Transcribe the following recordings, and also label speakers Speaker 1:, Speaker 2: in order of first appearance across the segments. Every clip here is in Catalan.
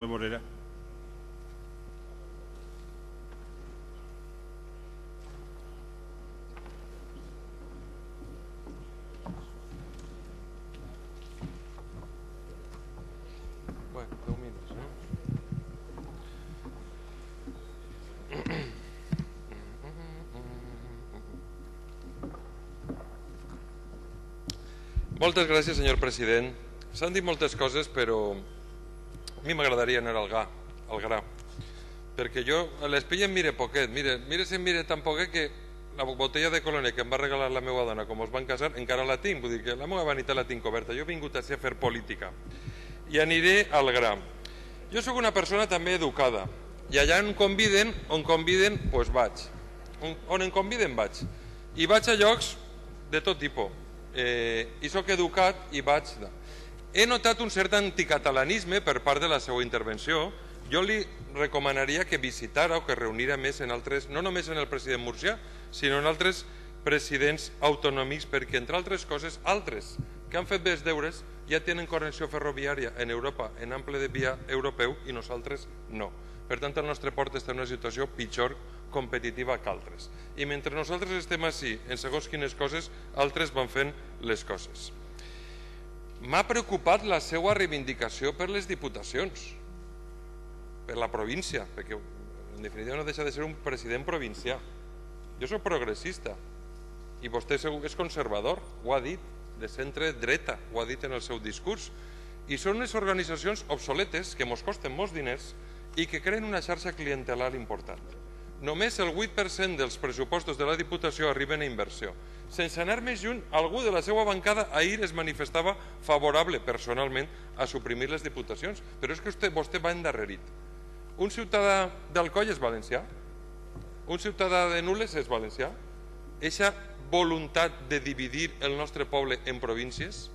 Speaker 1: Morera.
Speaker 2: Bueno, 10 minuts, no? Moltes gràcies, senyor president. S'han dit moltes coses, però a mi m'agradaria anar al gra. Perquè jo a l'espilla em mire poquet. Mire si em mire tan poquet que la botella de Colonet que em va regalar la meva dona com es van casar encara la tinc. Vull dir que la meva vanitat la tinc coberta. Jo he vingut a fer política. I aniré al gra. Jo sóc una persona també educada. I allà on conviden, doncs vaig. On em conviden vaig. I vaig a llocs de tot tipus. I sóc educat i vaig... He notat un cert anticatalanisme per part de la seva intervenció. Jo li recomanaria que visitara o que reunira més en altres, no només en el president Murcià, sinó en altres presidents autonòmics, perquè entre altres coses, altres que han fet bé els deures ja tenen connexió ferroviària en Europa en ample de via europeu i nosaltres no. Per tant, el nostre port està en una situació pitjor competitiva que altres. I mentre nosaltres estem així, en segons quines coses, altres van fent les coses. M'ha preocupat la seva reivindicació per les diputacions, per la província, perquè en definitiva no deixa de ser un president provincià. Jo soc progressista i vostè és conservador, ho ha dit, de centre dreta, ho ha dit en el seu discurs. I són unes organitzacions obsoletes que ens costen molts diners i que creen una xarxa clientelar important. Només el 8% dels pressupostos de la Diputació arriben a inversió. Sense anar més lluny, algú de la seva bancada ahir es manifestava favorable personalment a suprimir les diputacions, però és que vostè va endarrerit. Un ciutadà d'Alcoi és valencià? Un ciutadà de Nules és valencià? Eixa voluntat de dividir el nostre poble en províncies,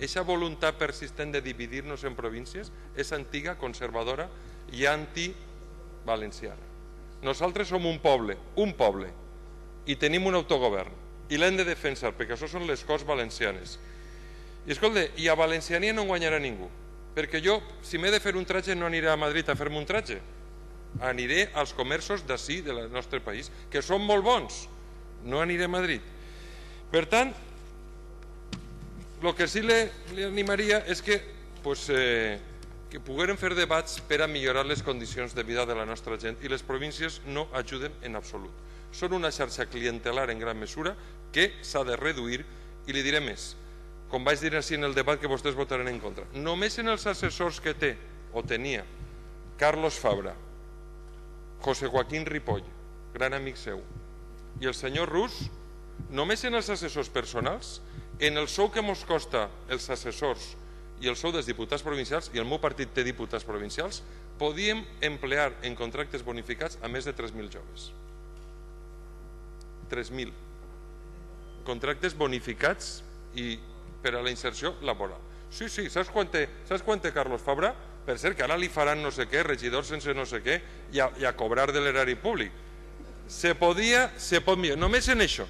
Speaker 2: eixa voluntat persistent de dividir-nos en províncies, és antiga, conservadora i antivalenciana. Nosaltres som un poble, i tenim un autogovern, i l'hem de defensar, perquè això són les Corts Valencianes. I escolta, i a Valenciania no guanyarà ningú, perquè jo, si m'he de fer un tratge, no aniré a Madrid a fer-me un tratge. Aniré als comerços d'ací, del nostre país, que són molt bons. No aniré a Madrid. Per tant, el que sí li animaria és que poguérem fer debats per a millorar les condicions de vida de la nostra gent, i les províncies no ajuden en absolut. Són una xarxa clientelar en gran mesura que s'ha de reduir, i li diré més, com vaig dir així en el debat que vostès votaran en contra. Només en els assessors que té o tenia Carlos Fabra, José Joaquín Ripoll, gran amic seu, i el senyor Rus, només en els assessors personals, en el sou que ens costa els assessors i el sou dels diputats provincials, i el meu partit té diputats provincials, podíem emplear en contractes bonificats a més de 3.000 joves. 3.000. Contractes bonificats i per a la inserció laboral. Sí, saps quant té Carlos Fabra? Per cert, que ara li faran no sé què, regidor sense no sé què, i a cobrar de l'erari públic. Se pot millorar, només en això.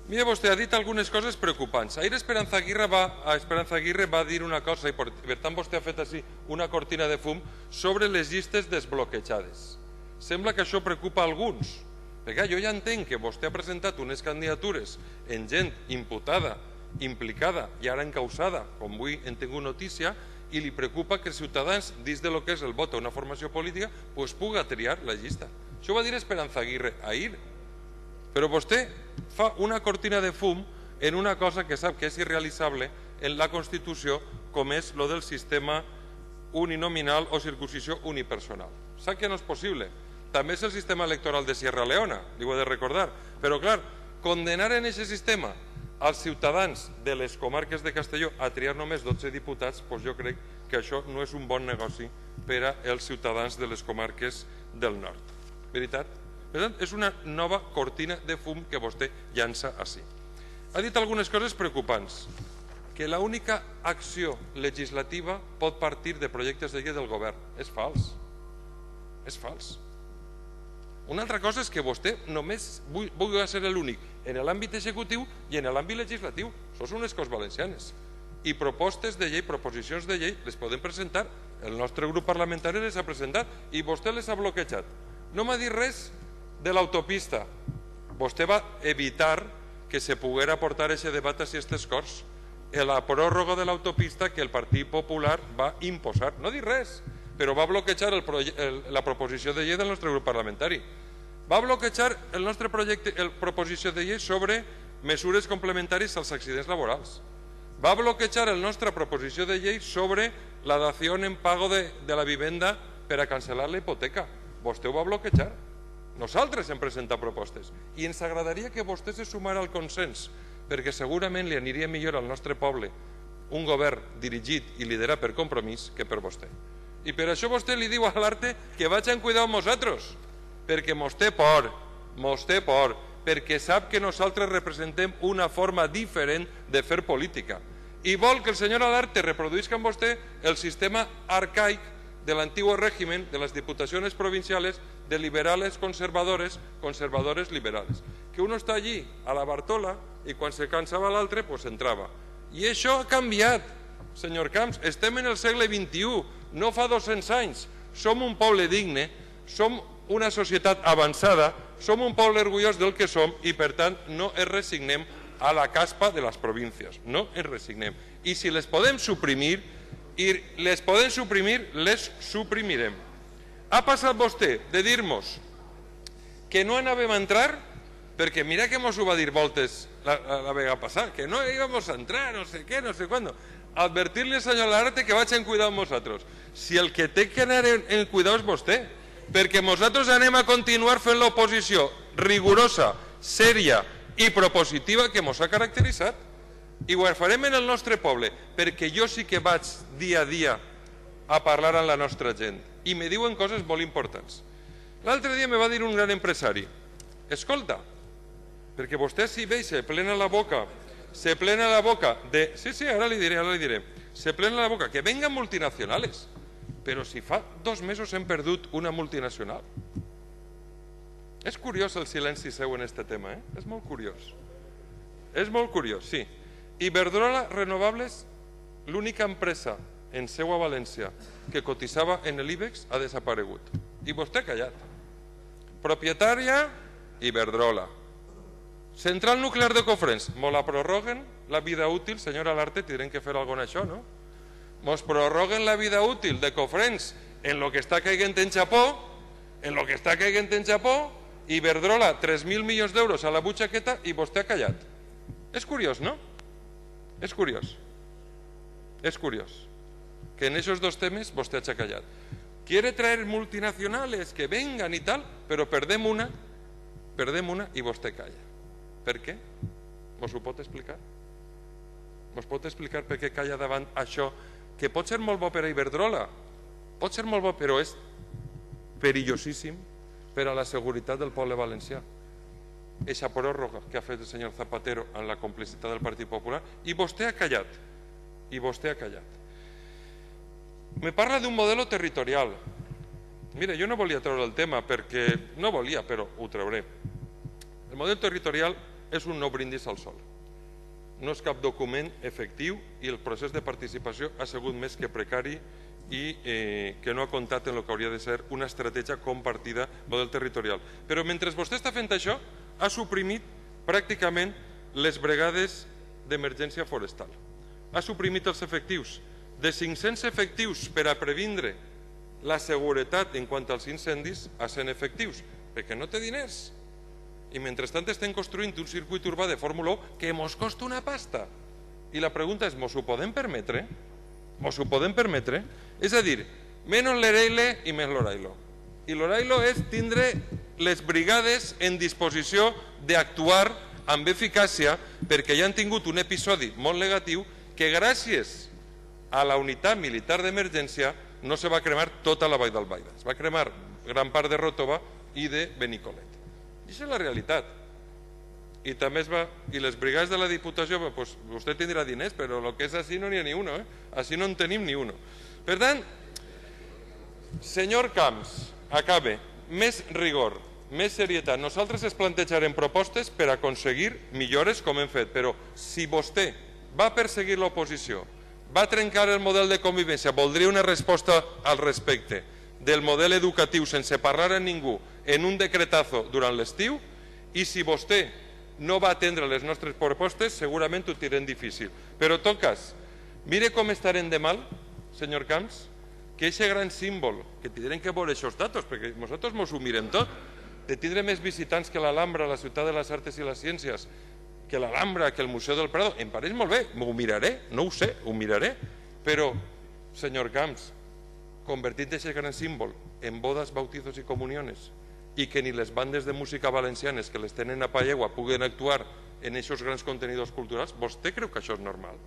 Speaker 2: Mira, vostè ha dit algunes coses preocupants. Ahir Esperanza Aguirre va dir una cosa, i per tant vostè ha fet així una cortina de fum sobre les llistes desbloquejades. Sembla que això preocupa a alguns, perquè jo ja entenc que vostè ha presentat unes candidatures en gent imputada, implicada i ara encausada, com avui en tinc notícia, i li preocupa que els ciutadans, dins del que és el vot a una formació política, puga triar la llista. Això ho va dir Esperanza Aguirre ahir. Però vostè fa una cortina de fum en una cosa que sap que és irrealitzable en la Constitució, com és lo del sistema uninominal o circunscripció unipersonal. Sap que no és possible. També és el sistema electoral de Sierra Leona, li ho he de recordar. Però, clar, condenar en aquest sistema als ciutadans de les comarques de Castelló a triar només 12 diputats, doncs jo crec que això no és un bon negoci per als ciutadans de les comarques del nord. Veritat? Per tant, és una nova cortina de fum que vostè llança així. Ha dit algunes coses preocupants, que l'única acció legislativa pot partir de projectes de llei del govern. És fals. És fals. Una altra cosa és que vostè només vulgui ser l'únic en l'àmbit executiu i en l'àmbit legislatiu. Això són les Corts Valencianes. i propostes de llei, proposicions de llei, les podem presentar. El nostre grup parlamentari les ha presentat i vostè les ha bloquejat. No m'ha dit res de l'autopista. Vostè va evitar que se poguera portar aquest debat a aquestes Corts. La pròrroga de l'autopista que el Partit Popular va imposar. No ha dit res, però va bloquejar la proposició de llei del nostre grup parlamentari. Va bloquejar el nostre projecte, la proposició de llei sobre mesures complementàries als accidents laborals. Va bloquejar la nostra proposició de llei sobre la dació en pago de la vivenda per a cancel·lar la hipoteca. Vostè ho va bloquejar. Nosaltres hem presentat propostes i ens agradaria que vostè se sumara al consens, perquè segurament li aniria millor al nostre poble un govern dirigit i liderat per Compromís que per vostè. I per això vostè li diu a l'Arte que vagin cuidar amb nosaltres, perquè mos té por, perquè sap que nosaltres representem una forma diferent de fer política i vol que el senyor Alarte reproduïsca amb vostè el sistema arcaic de l'antiguo régimen de les diputacions provinciales de liberales conservadores, conservadores liberales. Que uno està allí a la Bartola i quan se cansava l'altre pues entrava. I això ha canviat, senyor Camps. Estem en el segle XXI, no fa 200 anys. Som un poble digne, som una societat avançada, som un poble orgullós del que som i per tant no ens resignem a la caspa de les províncies, no ens resignem. I si les podem suprimir, les suprimirem. Ha passat vostè de dir-nos que no anàvem a entrar, perquè mira que mos ho va dir voltes la vegada passada, que no íbamos a entrar, no sé què, no sé quándo. Advertir-li al senyor Alarte que vagin cuidar amb nosaltres. Si el que té que anar en cuidar és vostè, perquè nosaltres anem a continuar fent l'oposició rigorosa, sèria i propositiva que ens ha caracteritzat. I ho farem en el nostre poble, perquè jo sí que vaig dia a dia a parlar amb la nostra gent i me diuen coses molt importants. L'altre dia me va dir un gran empresari: escolta, perquè vostè si ve i se plena la boca de... Sí, ara li diré. Se plena la boca que vengan multinacionales, però si fa 2 mesos hem perdut una multinacional. És curiós el silenci seu en este tema, és molt curiós. És molt curiós, sí. Iberdrola Renovables, l'única empresa en seu a València que cotitzava en l'IBEX, ha desaparegut. I vostè ha callat. Propietària, Iberdrola. Central nuclear de Cofrents, mos la prorroguen la vida útil, senyora Alarte, tindrem que fer alguna cosa en això, no? Mos prorroguen la vida útil de Cofrents en lo que està caigant en Japó, Iberdrola 3.000 milions d'euros a la butxaqueta i vostè ha callat. És curiós, no? És curiós. És curiós que en esos 2 temes vostè hagi callat. Quiere traer multinacionales que vengan y tal, però perdem una i vostè calla. Per què? Mos ho pot explicar? Mos pot explicar per què calla davant això que pot ser molt bo per a Iberdrola, pot ser molt bo, però és perillosíssim per a la seguretat del poble valencià? Eixa pròrroga que ha fet el senyor Zapatero amb la complicitat del Partit Popular, i vostè ha callat. Me parla d'un modelo territorial. Mira, jo no volia treure el tema perquè no volia, però ho trauré. El model territorial és un no brindis al sol. No és cap document efectiu i el procés de participació ha sigut més que precari i que no ha comptat en el que hauria de ser una estratègia compartida model territorial. Però mentre vostè està fent això, ha suprimit pràcticament les brigades d'emergència forestal. Ha suprimit els efectius. De 500 efectius per a previndre la seguretat en quant als incendis a 100 efectius, perquè no té diners. I mentrestant estem construint un circuit urbà de Fórmula 1 que mos costa una pasta. I la pregunta és, mos ho podem permetre? Mos ho podem permetre? És a dir, menys l'Ereile i més l'Orailo. I l'Orailo és tindre les brigades en disposició d'actuar amb eficàcia perquè ja han tingut un episodi molt negatiu que gràcies a la unitat militar d'emergència no se va cremar tota la vall d'Albaida. Es va cremar gran part de Ròtova i de Benicolet. I això és la realitat. I també les brigades de la Diputació, pues, vostè tindrà diners, però el que és així no n'hi ha ni uno. Així no en tenim ni uno. Per tant, senyor Camps, acabe. Més rigor, més serietat. Nosaltres es plantejarem propostes per aconseguir millores com hem fet, però si vostè va perseguir l'oposició, va trencar el model de convivència, voldria una resposta al respecte del model educatiu sense parlar a ningú en un decretazo durant l'estiu, i si vostè no va atendre les nostres propostes segurament ho tindrem difícil. Però en tot cas, mire com estarem de mal, senyor Camps, que aquest gran símbol, que tindrem que veure aquests datos, perquè nosaltres ens ho mirem tot, de tindre més visitants que l'Alhambra, la ciutat de les arts i les ciències, que l'Alhambra, que el Museu del Prado, em pareix molt bé, m'ho miraré, no ho sé, ho miraré, però, senyor Camps, convertit aquest gran símbol en bodes, bautizos i comuniones, i que ni les bandes de música valencianes que les tenen a Pallegua puguen actuar en aquests grans contenidors culturals, vostè creu que això és normal?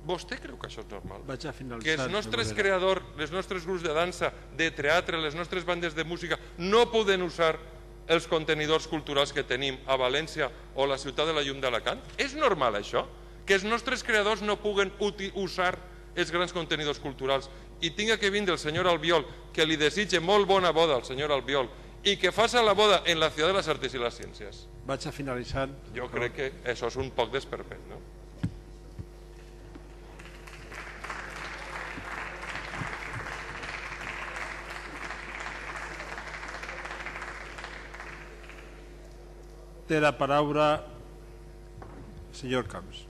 Speaker 2: Vostè creu que això és normal? Que els nostres creadors, els nostres grups de dansa, de teatre, les nostres bandes de música no poden usar els contenidors culturals que tenim a València o a la ciutat de la Llum d'Alacant? És normal això? Que els nostres creadors no puguen usar els grans contenidors culturals i tinga que vindre el senyor Albiol, que li desitge molt bona boda al senyor Albiol, i que faça la boda en la ciutat de les arts i les ciències?
Speaker 1: Vaig a finalitzar.
Speaker 2: Jo crec que això és un poc desperpet, no?
Speaker 1: Té la paraula el senyor Camps.